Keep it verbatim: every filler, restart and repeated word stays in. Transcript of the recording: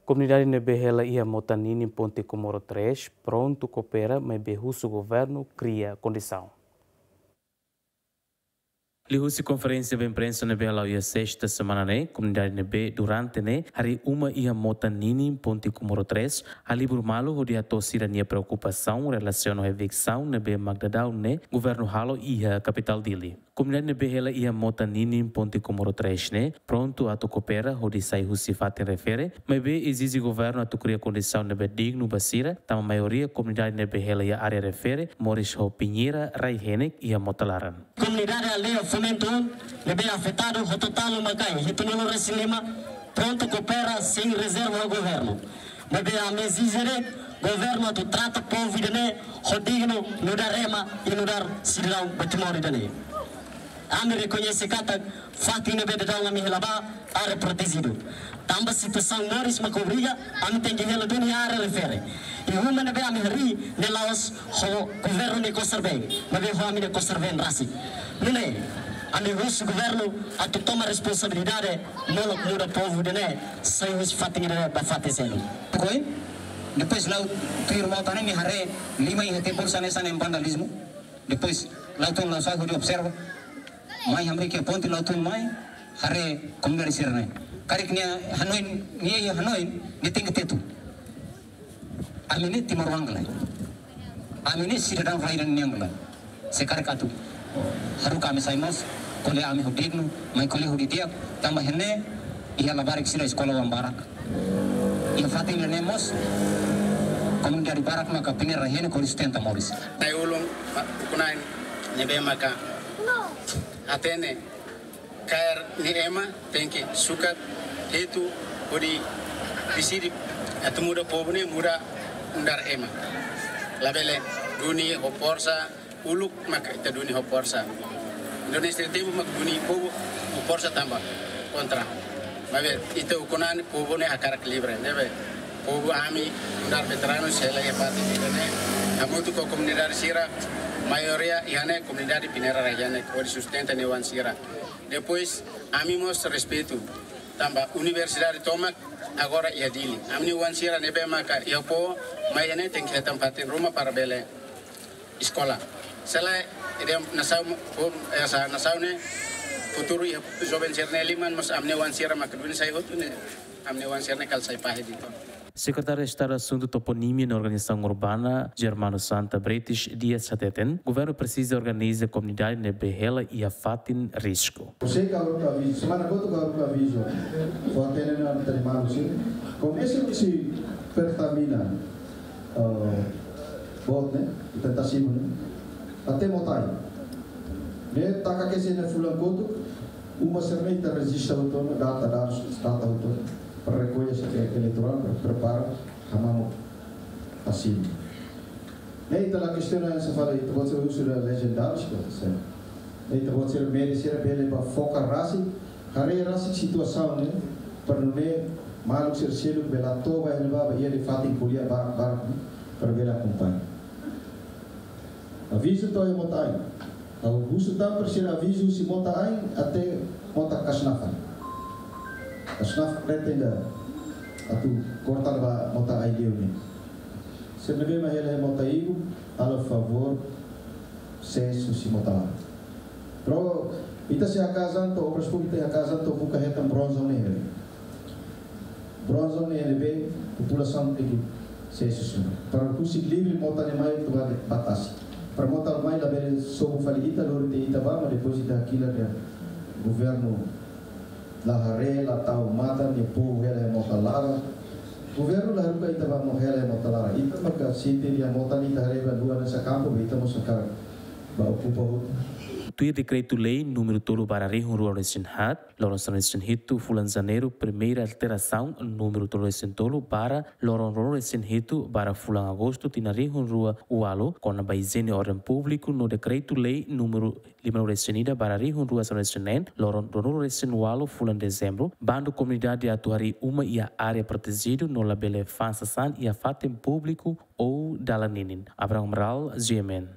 Komunidade ne'ebé hela iha mota ninin Ponte Comoro três prontu koopera, maibé husu governu kria kondisaun. Liuhusi konferénsia ba imprensa ne'ebé hala'o iha sesta semana ne'e, komunidade ne'ebé durante ne'e harii uma iha mota ninin Ponte Comoro três halibur malu hodi hato'o sira-nia preokupasaun relasiona ho eviksaun ne'ebé mak daudaun ne'e governu halo iha kapitál Dili. Komunidade ne'ebé hela iha mota ninin Ponte Comoro três ne'e prontu atu koopera hodi sai husi fatin refere, maibé ezije governu atu kria kondisaun ne'ebé dignu ba sira, tanba maioria komunidade ne'ebé hela iha área refere moris ho pinheira rai-henek iha mota laran. Komunidade aldeia Fomento ne'ebé afetadu ho totál uma-kain hitunulu-resin-lima prontu koopera sein rezerva ho governu. Maibé ami ezije de'it governu atu trata povu ida-ne'e ho dignu, nu'udar ema i nu'udar sidadaun ba Timor ida-ne'e. Ami rekoñese katak fatin ne'ebé daudaun ami hela ba área protejidu. Tanba situasaun moris mak obriga ami tenke hela duni área refere. I uma ne'ebé ami harii ne'e la'ós ho governu nia kosar-been, maibé ho ami-nia kosar-been rasik. Nune'e, ami husu governu atu toma responsabilidade, molok muda povu ida-ne'e sai husi fatin ida-ne'e ba fatin seluk. Tukoin, depois la'o tuir mota ne'e nia haree liman iha tempur hanesan ne'e vandalizmu. Depois la'o tun, la'o sai hodi observa. Mai hamriik iha ponte, la'o tun mai haree komunidade sira-ne'e. Karik nia hanoin, nia iha hanoin, nia tenke tetu. Ami ne'e timoroan ka lae? Ami ne'e sidadaun rai-henek nian ka lae? Se karik atu haruka ami sai mós, ko'alia ami ho dignu, mai ko'alia ho di'ak, tanba iha ne'e iha labarik sira eskola oan barak. Iha fatin ne'e mós komunidade barak maka pinheira rai-henek hodi sustenta moris. Nai ulun, ma-, ukun-na'in ne'ebé maka hatene kaer nia ema tenke sukat hetu hodi deside atu muda povu ne'e muda nu'udar ema. Labele duni ho forsa, uluk maka ita duni ho forsa. Indonézia tempu mak duni povu ho forsa tanba kontra. Maibé ita ukun-na'in povu ne'e hakarak livre, ne'ebé povu ami nu'udar veteranu sei la iha parte ida-ne'e. Hamutuk ho komunidade sira, maioria iha ne'e komunidade pinheira rai-henek, hodi sustenta nia oan sira. Depois, ami mós respeitu. Tanba universidade tomak agora iha Dili. Ami-nia oan sira ne'ebé maka iha foho, mai iha ne'e tenke hetan fatin ruma para bele eskola. Se lae, ida nasaun, um, esa nasaun ne'e, futuru iha joven sira-ne'e liman, mas ami-nia oan sira maka duni sai hotu ne'e, ami-nia oan sira-ne'e kala sai fahe de'it. Sekretáriu Estadu Asuntu Toponímia no Organizasaun Urbana, Germano Santa Bretes Dias hateten, governu presiza organiza komunidade ne'ebé hela iha fatin risku. Sei ka haruka avizu, semana kotuk ka haruka avizu. Fó hatene ona, terima kasih. Komesa husi Pertamina, eh, boot ne'e, Pertamina ne'e, até Motai. Ne'e taka kesi ne'e fulan kotuk, uma sira-ne'e ita rejista hotu ona, data, dadus, data hotu ona. Para rekolla sira-nia eleitorál, para prepara, hamamuk asina. Ne'e ita la kestiona hanesan fali, ita-boot sira husu ida legendáriu, se. Ne'e ita-boot sira meri sira bele ba foka rasik, haree rasik situasaun ne'e, para nune'e maluk sira seluk bele atu ba iha ne'ebá, ba iha de'it fatin ko'alia barak-barak, para bele akompaña. Avizu to'o iha Motain. Ha'u husu tan para sira avizu husi Motain até Mota Kasnafan. Kasnafan ne'e tenke atu korta ba Motain liu ne'e. Sira ne'ebé mak hela iha Mota Ibu, halo favór, sees husi Mota Laran. Pro, ita sei hakaas an to'o, Obras Públikas sei hakaas an to'o buka hetan bronze ne'e. Bronze ne'e ne'ebé populasaun tenke sees husi ne'e. Para husik livre mota ne'e mai to'o ba tasi. Para mota mai labele sobu fali ita, lori tiha ita ba, mas depois ita hakilar dehan governu la haree, la tau matan, nia povu hela iha Mota Laran. Governu la haruka ita ba mo hela iha Mota Laran. Ita maka sente nia mota ne'e ita haree ba luan hanesan kampu, be ita mós hakarak ba okupa hotu. Tuir dekretu-lei númeru tolu barra rihun rua resin haat, loron sanulu resin hitu fulan Janeiru, primeira alterasaun númeru tolu resin tolu barra loron rua resin hitu barra fulan Agostu tinan rihun rua ualu, kona-ba ijiene orden públiku no dekretu-lei númeru lima resin ida barra rihun rua sanulu resin neen, loron rua resin ualu fulan Dezembru, bandu komunidade atu harii uma iha área protejidu no labele fa'an sasán iha fatin públiku ou dalan ninin. Abraham Amaral, G M N.